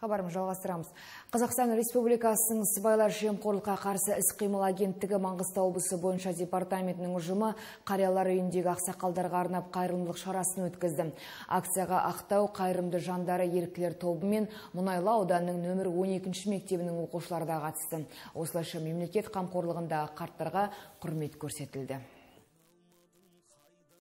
Хабарым жалғастырамыз. Қазақстан Республикасының сыбайлас жемқорлыққа қарсы іс-қимыл агенттігі Маңғыстау облысы бойынша департаментінің ұжымы қариялар үйіндегі ақсақалдарға арнап қайырымдылық шарасын өткізді. Акцияға Ақтау қайырымды жандары еріктілер тобы мен Мұнайлы ауданының нөмір 12 мектебінің оқушылары да қатысты. Осылайша мемлекет қамқорлығында қарттарға құрмет көрсетілді.